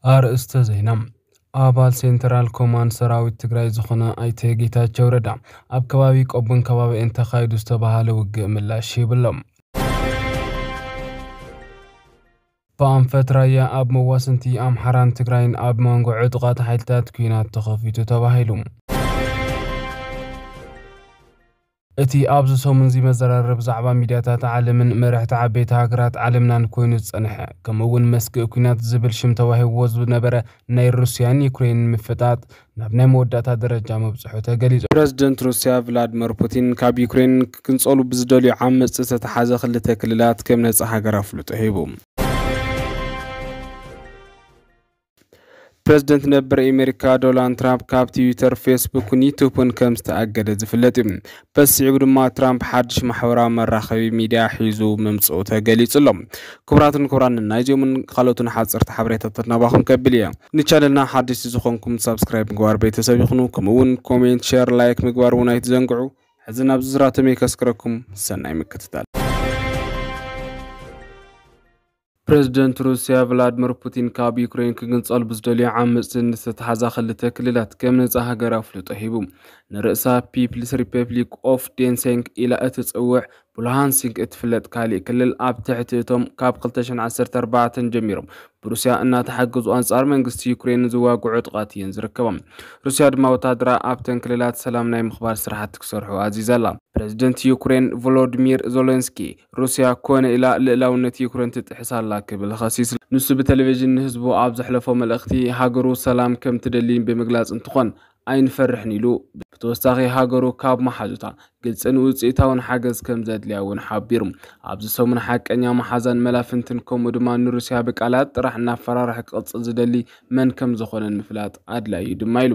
ኣርእስተ ዜና። ኣባል ሴንትራል ኮማንድ ሰራዊት ትግራይ ዝኾነ ኣይተ ጌታቸው ረዳ ኣብ ከባቢ ቆቦን ከባቢኡን ተኻይዱ ዝተባሃለ ውግእ ምላሽ ሂቡ ኣሎ። ብኣንፈት ራያ ኣብ መዋስንቲ ኣምሓራን ትግራይን ኣብ መንጎ ዕጡቓት ሓይልታት ኲናት ተኸፊቱ ተባሂሉ። እቲ ኣብዚ ሰሙን እዚ መዘራረቢ ዛዕባ ሚድያታት ዓለምን መራሕቲ ዓበይቲ ሃገራት ዓለምናን ኮይኑ ዝጸንሐ፣ ከምኡ እውን መስግእ ኲናት ዝብል ሽም ተዋሂብዎ ዝነበረ ናይ ሩስያን ዩክሬንን ምፍጣጥ ናብ ናይ መወዳእታ ደረጃ ምብጽሑ ተገሊጹ። ፕረዚደንት ሩስያ ቭላድመር ፑቲን ካብ ዩክሬን ክግንጸሉ ብዝደልዩ ዓመጽቲ ዝተተሓዘ ክልተ ክልላት ከም ነጻ ሃገር ኣፍልጦ ሂቡ። ፕረዚደንት ነበር ኣሜሪካ ዶናልድ ትራምፕ ካብ ትዊተር፣ ፌስቡክን ዩቱብን ከም ዝተኣገደ ዝፍለጥ እዩ። በዚ ስዒቡ ድማ ትራምፕ ሓድሽ ማሕበራዊ መራኸቢ ሚድያ ሒዙ ምምፅኡ ተገሊጹ ኣሎ። ክቡራትን ክቡራን፣ ናይዚኦምን ካልኦትን ሓፀርቲ ሓበሬታታት ናባኹም ከብል እየ። ንቻነልና ሓደሽቲ ዝኾንኩም ሳብስክራይብ ምግባር ቤተሰብ ይኹኑ። ከምኡ እውን ኮሜንት፣ ሼር፣ ላይክ ምግባር እውን ኣይትዘንግዑ። ሕዚ ናብ ዝርዝራቶም ከስክረኩም። ሰናይ ምክትታል። ፕረዚደንት ሩስያ ቭላድሚር ፑቲን ካብ ዩክሬን ክግንጸል ብዝደልዩ ዓመጽቲ ዝተተሓዛ ክልተ ክልላት ከም ነጻ ሃገር ኣፍልጦ ሂቡ። ንርእሳ ፒፕልስ ሪፐብሊክ ኦፍ ዴንሴንክ ኢላ እትጽውዕ ብሉሃንሲንክ እትፍለጥ ካሊእ ክልል ኣብ ትሕቲ እቶም ካብ ክልተ ሽሕን ዓሰርተ ኣርባዕተን ጀሚሮም ብሩስያ እናተሓገዙ ኣንጻር መንግስቲ ዩክሬን ዝዋግዑ ዕጡቓት እየን ዝርከባ። ሩስያ ድማ ወታደራ ኣብተን ክልላት ሰላም ናይ ምኽባር ስራሕቲ ክሰርሑ ኣዚዛ ኣላ። ፕረዚደንት ዩክሬን ቮሎዲሚር ዞሌንስኪ ሩስያ ኮነ ኢላ ልእላውነት ዩክሬን ትጥሕስ ኣላ ክብል ኸሲሱ። ንሱ ብቴሌቪዥን ንህዝቡ ኣብ ዘሕለፎ መልእኽቲ ሃገሩ ሰላም ከም ትደሊ ብምግላጽ እንትኾን ኣይንፈርሕን ኢሉ። ብተወሳኺ ሃገሩ ካብ መሓዙታ ግልጽን ውጽኢታውን ሓገዝ ከም ዘድልያ እውን ሓቢሩ። ኣብዚ ሰሙን ሓቀኛ መሓዛን መላፍንትን ከምኡ ድማ ንሩስያ ብቃላት ጥራሕ እናፈራርሐ ክቕጽል ዝደሊ መን ከም ዝኾነን ምፍላጥ ኣድላዪ እዩ ድማ ኢሉ።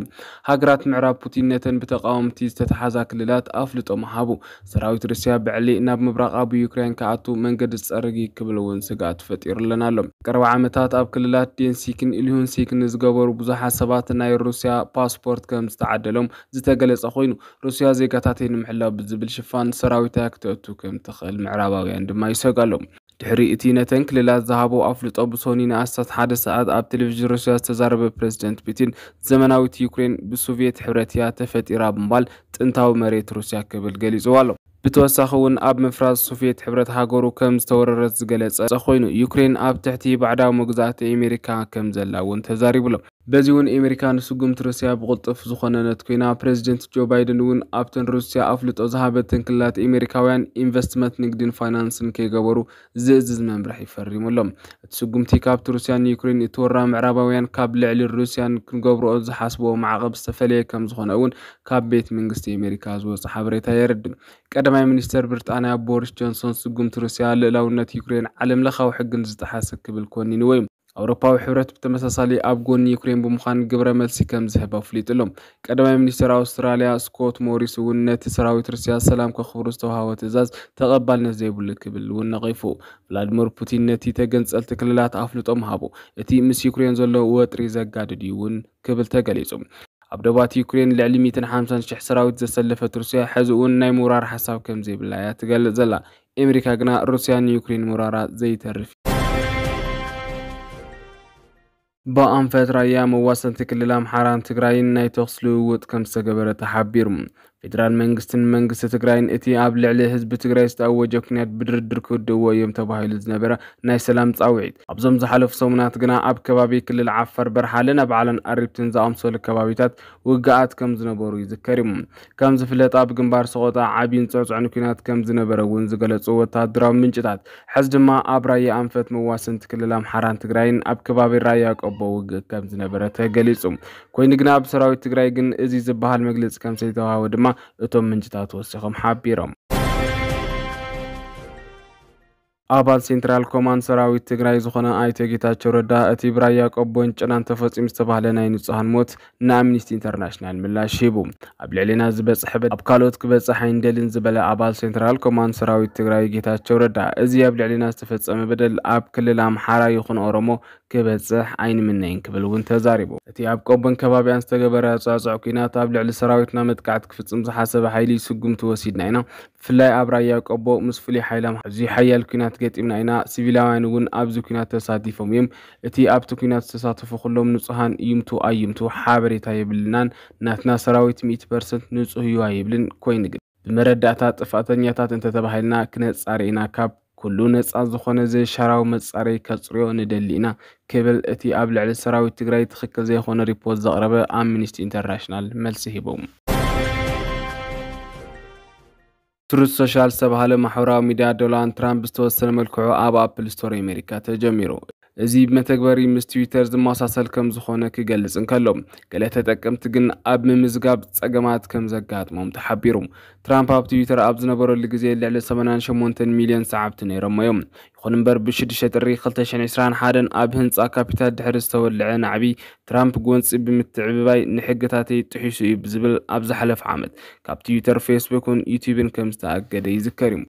ሃገራት ምዕራብ ፑቲን ነተን ብተቃወምቲ ዝተተሓዛ ክልላት ኣፍልጦ ምሃቡ። ሰራዊት ሩስያ ብዕሊ ናብ ምብራቓዊ ዩክሬን ክኣቱ መንገዲ ዝጸርግ እዩ ክብል እውን ስግኣት ፈጢሩለን ኣሎ። ቀረባ ዓመታት ኣብ ክልላት ዴንሲክን ኢልሁንሲክን ዝገበሩ ብዙሓት ሰባት ናይ ሩስያ ፓስፖርት ከም ዝተዓደሎም ዝተገለጸ ኮይኑ፣ ሩስያ ዜጋታተይ ንምሕላው ብዝብል ሽፋን ሰራዊታ ክተእቱ ከም ትኽእል ምዕራባውያን ድማ ይሰግኡ ኣለዉ። ድሕሪ እቲ ነተን ክልላት ዝሃቦ ኣፍልጦ ብሶኒ ንኣስታት ሓደ ሰዓት ኣብ ቴሌቪዥን ሩስያ ዝተዛረበ ፕረዚደንት ፑቲን፣ ዘመናዊት ዩክሬን ብሶቭየት ሕብረት እያ ተፈጢራ ብምባል ጥንታዊ መሬት ሩስያ ክብል ገሊጽዋ ኣሎ። ብተወሳኺ እውን ኣብ ምፍራስ ሶቭየት ሕብረት ሃገሩ ከም ዝተወረረት ዝገለጸ ኮይኑ፣ ዩክሬን ኣብ ትሕቲ ባዕዳዊ መግዛእቲ ኣሜሪካ ከም ዘላ እውን ተዛሪቡ ኣሎ። በዚ እውን ኣሜሪካ ንስጉምቲ ሩስያ ብቕልጡፍ ዝኾነነት ኮይና፣ ፕረዚደንት ጆ ባይደን እውን ኣብተን ሩስያ ኣፍልጦ ዝሃበተን ክልላት ኣሜሪካውያን ኢንቨስትመንት፣ ንግድን ፋይናንስን ከይገበሩ ዝእዝዝ መምርሒ ፈሪሙ ኣሎ። እቲ ስጉምቲ ካብቲ ሩስያ ንዩክሬን እትወራ ምዕራባውያን ካብ ልዕሊ ሩስያን ክንገብርኦ ዝሓስብዎ ማዕቐብ ዝተፈለየ ከም ዝኾነ እውን ካብ ቤት መንግስቲ ኣሜሪካ ዝወፀ ሓበሬታ የረድእ። ቀዳማይ ሚኒስተር ብሪጣንያ ቦሪስ ጆንሶን ስጉምቲ ሩስያ ልእላውነት ዩክሬን ዓለም ለኻዊ ሕግን ዝጠሓሰ ክብል ኮኒንዎ እዩ። ኣውሮፓዊ ሕብረት ብተመሳሳሊ ኣብ ጎኒ ዩክሬን ብምዃን ግብረ መልሲ ከም ዝህብ ኣፍሊጡ ኣሎ። ቀዳማይ ሚኒስተር ኣውስትራልያ ስኮት ሞሪስ እውን ነቲ ሰራዊት ሩስያ ሰላም ከኽብሩ ዝተዋህቦ ትእዛዝ ተቐባልነት ዘይብሉ ክብል እውን ነቒፉ። ቭላድሚር ፑቲን ነቲ ተገንጸልቲ ክልላት ኣፍልጦ ምሃቡ፣ እቲ ምስ ዩክሬን ዘሎ ወጥሪ ዘጋድድ እዩ እውን ክብል ተገሊጹ። ኣብ ዶባት ዩክሬን ልዕሊ ሚእትን ሓምሳን ሽሕ ሰራዊት ዘሰለፈት ሩስያ፣ ሕዚ እውን ናይ ምውራር ሓሳብ ከም ዘይብላ እያ ትገልጽ ዘላ። ኣሜሪካ ግና ሩስያ ንዩክሬን ምውራራ ዘይተርፍ። ብኣንፈት ራያ መዋሰንቲ ክልል ኣምሓራን ትግራይን ናይ ተኹሲ ልውውጥ ከም ዝተገበረ ተሓቢሩ። ፌደራል መንግስትን መንግስቲ ትግራይን እቲ ኣብ ልዕሊ ህዝቢ ትግራይ ዝተኣወጀ ኩናት ብድርድር ክውድእዎ እዮም ተባሂሉ ዝነበረ ናይ ሰላም ጻውዒት፣ ኣብዞም ዝሓለፉ ሰሙናት ግና ኣብ ከባቢ ክልል ዓፋር በርሓለን ኣብ ዓለን ኣሪብትን ዝኣምሰሉ ከባቢታት ውግኣት ከም ዝነበሩ ይዝከር እዩ። ከም ዝፍለጥ ኣብ ግንባር ሰቆጣ ዓብይን ጽዕጽዕን ኩናት ከም ዝነበረ እውን ዝገለጹ ወታደራዊ ምንጭታት፣ ሕዚ ድማ ኣብ ራያ ኣንፈት መዋሰንቲ ክልል ኣምሓራን ትግራይን ኣብ ከባቢ ራያ ቆቦ ውግእ ከም ዝነበረ ተገሊጹ። ኮይኑ ግና ኣብ ሰራዊት ትግራይ ግን እዚ ዝበሃል መግለጺ ከም ዘይተዋህበ ድማ እቶም ምንጭታት ወሲኾም ሓቢሮም። ኣባል ሴንትራል ኮማንድ ሰራዊት ትግራይ ዝኾነ ኣይተ ጌታቸው ረዳ፣ እቲ ብራያ ቆቦን ጭናን ተፈጺሙ ዝተባህለ ናይ ንጹሃን ሞት ንኣምኒስቲ ኢንተርናሽናል ምላሽ ሂቡ። ኣብ ልዕሌና ዝበጽሐ በደል ኣብ ካልኦት ክበጽሕ ኣይንደልን ዝበለ ኣባል ሴንትራል ኮማንድ ሰራዊት ትግራይ ጌታቸው ረዳ፣ እዚ ኣብ ልዕሌና ዝተፈጸመ በደል ኣብ ክልል ኣምሓራ ይኹን ኦሮሞ ክበጽሕ ኣይንምነይን ክብል እውን ተዛሪቡ። እቲ ኣብ ቆቦን ከባቢኣን ዝተገበረ ጸዕጸዕ ኲናት ኣብ ልዕሊ ሰራዊትና መጥቃዕቲ ክፍጽም ዝሓሰበ ሓይሊ ስጉምቲ ወሲድና ኢና። ብፍላይ ኣብ ራያ ቆቦ ምስ ፍሉይ ሓይሊ ኣምሓራ ኣዝዩ ሓያል ኲናት ገጢምና ኢና። ሲቪላውያን እውን ኣብዚ ኲናት ተሳቲፎም እዮም። እቲ ኣብቲ ኲናት ዝተሳተፉ ኩሎም ንጹሃን ይምቱ ኣይምቱ ሓበሬታ የብልናን። ናትና ሰራዊት ሚእቲ ፐርሰንት ንጹህ እዩ ኣይብልን። ኮይኑ ግን ብመረዳእታ ጥፍኣተኛታት እንተተባሂልና ክነጻሪ ኢና። ካብ ኩሉ ነጻ ዝኾነ ዘይሻራዊ መጻረዪ ከጽርዮ ንደሊ ኢና ክብል እቲ ኣብ ልዕሊ ሰራዊት ትግራይ ትኽክል ዘይኮነ ሪፖርት ዘቕረበ ኣምኒስቲ ኢንተርናሽናል መልሲ ሂቡ። ትሩዝ ሶሻል ዝተባህለ ማሕበራዊ ሚድያ ዶናልድ ትራምፕ ብዝተወሰነ መልክዑ ኣብ ኣፕል ስቶር ኣሜሪካ ተጀሚሩ። እዚ መተግበሪ ምስ ትዊተር ዝመሳሰል ከም ዝኾነ ክገልጽ እንከሎ፣ ገለ ተጠቀምቲ ግን ኣብ ምምዝጋብ ጸገማት ከም ዘጋጥሞም ተሓቢሩ። ትራምፕ ኣብ ትዊተር ኣብ ዝነበረሉ ግዜ ልዕሊ ሰማንያን ሸሞንተን ሚልዮን ሰዓብቲ ነይሮሞ እዮም። ይኹን እምበር፣ ብ ሽዱሽተ ጥሪ ክልተ ሽሕን ዕስራን ሓደን ኣብ ህንጻ ካፒታል ድሕሪ ዝተወልዐ ናዕቢ፣ ትራምፕ ጎንጺ ብምትዕብባይ ንሕግታተይ ጥሒሱ እዩ ብዝብል ኣብ ዝሓለፈ ዓመት ካብ ትዊተር፣ ፌስቡክን ዩቲዩብን ከም ዝተኣገደ ይዝከር እዩ።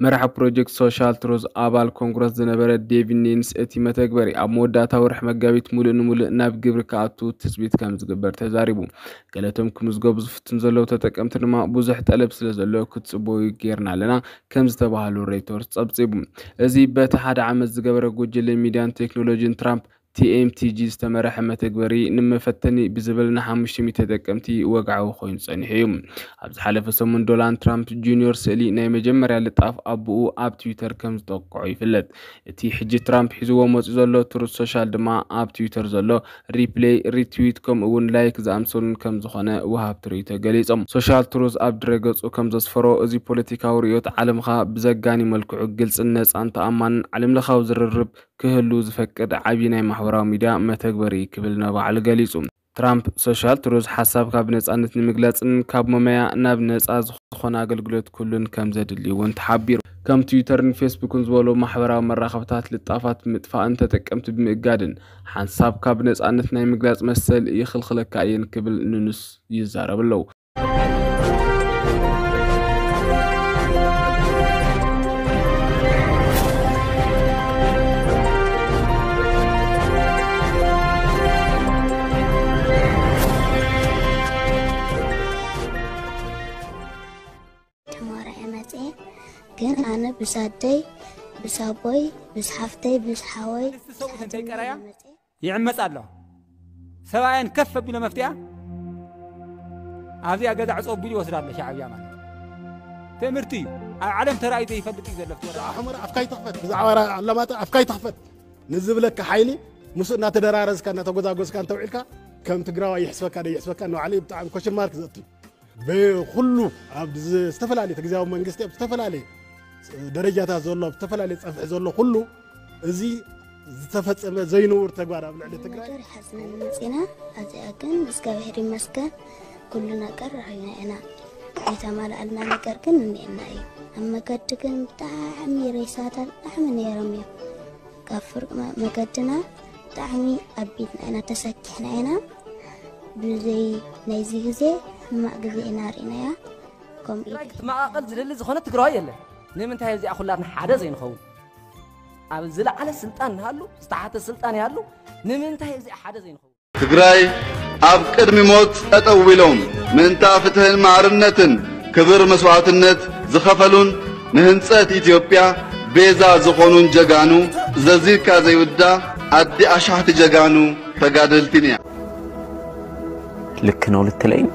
መራሒ ፕሮጀክት ሶሻል ትሩዝ ኣባል ኮንግረስ ዝነበረ ዴቪድ ኒንስ፣ እቲ መተግበሪ ኣብ መወዳእታ ወርሒ መጋቢት ሙሉእ ንሙሉእ ናብ ግብሪ ክኣቱ ትጽቢት ከም ዝግበር ተዛሪቡ። ገለቶም ክምዝገቡ ዝፍትን ዘለዉ ተጠቀምቲ ድማ ብዙሕ ጠለብ ስለ ዘሎ ክትጽበዩ ጌርና ኣለና ከም ዝተባህሉ ሬይተርስ ጸብጺቡ። እዚ በቲ ሓደ ዓመት ዝገበረ ጉጅለ ሚድያን ቴክኖሎጂን ትራምፕ ቲ ኤም ቲ ጂ ዝተመረሐ መተግበሪ ንመፈተኒ ብዝብል ንሓሙሽተ ሚእቲ ተጠቀምቲ ወግዓዊ ኮይኑ ጸኒሑ እዩ። ኣብ ዝሓለፈ ሰሙን ዶናልድ ትራምፕ ጁኒዮር ስእሊ ናይ መጀመርያ ልጣፍ ኣቦኡ ኣብ ትዊተር ከም ዝጠቅዖ ይፍለጥ። እቲ ሕጂ ትራምፕ ሒዝዎ መፂኡ ዘሎ ትሩዝ ሶሻል ድማ ኣብ ትዊተር ዘሎ ሪፕሌይ፣ ሪትዊት ከምኡ እውን ላይክ ዝኣምሰሉን ከም ዝኾነ ወሃብቲ ርእይቶ ገሊጾም። ሶሻል ትሩዝ ኣብ ድረገጹ ከም ዘስፈሮ፣ እዚ ፖለቲካዊ ርእዮት ዓለምኻ ብዘጋኒ መልክዑ ግልጽን ነጻን ተኣማንን ዓለምለኻዊ ዝርርብ ክህሉ ዝፈቅድ ዓቢ ናይ ማሕበራዊ ሚድያ መተግበሪ ክብል ንባዕሉ ገሊጹ። ትራምፕ ሶሻል ትሩዝ ሓሳብካ ብነጻነት ንምግላጽን ካብ መመያ ናብ ነጻ ዝኾነ ኣገልግሎት ኩሉን ከም ዘድሊ እውን ተሓቢሩ። ከም ትዊተርን ፌስቡክን ዝበሉ ማሕበራዊ መራኸብታት ልጣፋት ብምጥፋእን ተጠቀምቲ ብምእጋድን ሓንሳብካ ብነጻነት ናይ ምግላጽ መሰል ይኽልኽለካ እየን ክብል ኑንስ ይዛረብ ኣለዉ። ተማሪዐ መፅኤ። ግን ኣነ ብሳደይ፣ ብሳቦይ፣ ብስሓፍተይ፣ ብስሓወይ፣ ሰብኡት እንተይቀረያ ይዕመፅ ኣሎ። ሰብኣየን ከፍ ኣቢሎ መፍትያ ኣብዚኣ ገዛ ዕፆ ኣቢሉ ይወስዳ ኣሎ ሻዕብያ ማለት ትእምርቲ እዩ። ኣብ ዓለም ተራእዩ ዘይፈልጥ እዩ ዘሎ። ብዛዕባ ሑመራ ኣፍካ ይትኽፈት፣ ብዛዕባ ኣላማጣ ኣፍካ ይትኽፈት ንዝብለካ ሓይሊ ምስኡ እናተደራረዝካ እናተጎዛጎዝካ እንተውዒልካ ከም ትግራዋይ ይሕስበካ ደይሕስበካ ንባዕሉ እዩ ብጣዕሚ ኮሽን ማርክ ዘእቱ። ብኩሉ ኣብ ዝተፈላለየ ተግዚያዊ መንግስቲ ኣብ ዝተፈላለየ ደረጃታት ዘሎ ኣብ ዝተፈላለየ ፀፍሒ ዘሎ ኩሉ እዚ ዝተፈፀመ ዘይንውር ተግባር ኣብ ልዕሊ ትግራይ ነገር ሓዝነን መፂና። ኣብዚኣ ግን እግዚኣብሔር ይመስገን ኩሉ ነገር ረኺብና ኢና። ዘይተማልኣልና ነገር ግን እኒኤና እዩ። ኣብ መገዲ ግን ብጣዕሚ ሬሳታት ብጣዕሚ ነይሮም እዮም። ካብ ፍርቂ መገድና ብጣዕሚ ኣቢድና ኢና ተሰኪሕና ኢና። ብዘይ ናይዚ ግዜ ሕማቕ ግዜ ኢና ርኢናያ። ከምኡ እዩ ትግራይ ክትመቓቐል ዝደሊ ዝኾነ ትግራዋይ የለን። ንምንታይ እዚኣ ኩላትና ሓደ ዘይንኸውን? ኣብ ዝለዓለ ስልጣን ንሃሉ ዝተሓተ ስልጣን ይሃሉ ንምንታይ እዚኣ ሓደ ዘይንኸውን? ትግራይ ኣብ ቅድሚ ሞት ጠጠው ኢሎም ምእንታ ፍትህን ማዕርነትን ክብር መስዋዕትነት ዝኸፈሉን ንህንፀት ኢትዮጵያ ቤዛ ዝኾኑን ጀጋኑ ዘዚርካ ዘይውዳ ኣዲ ኣሻሕቲ ጀጋኑ ተጋደልቲን እያ። ልክ ነው ልትለኝ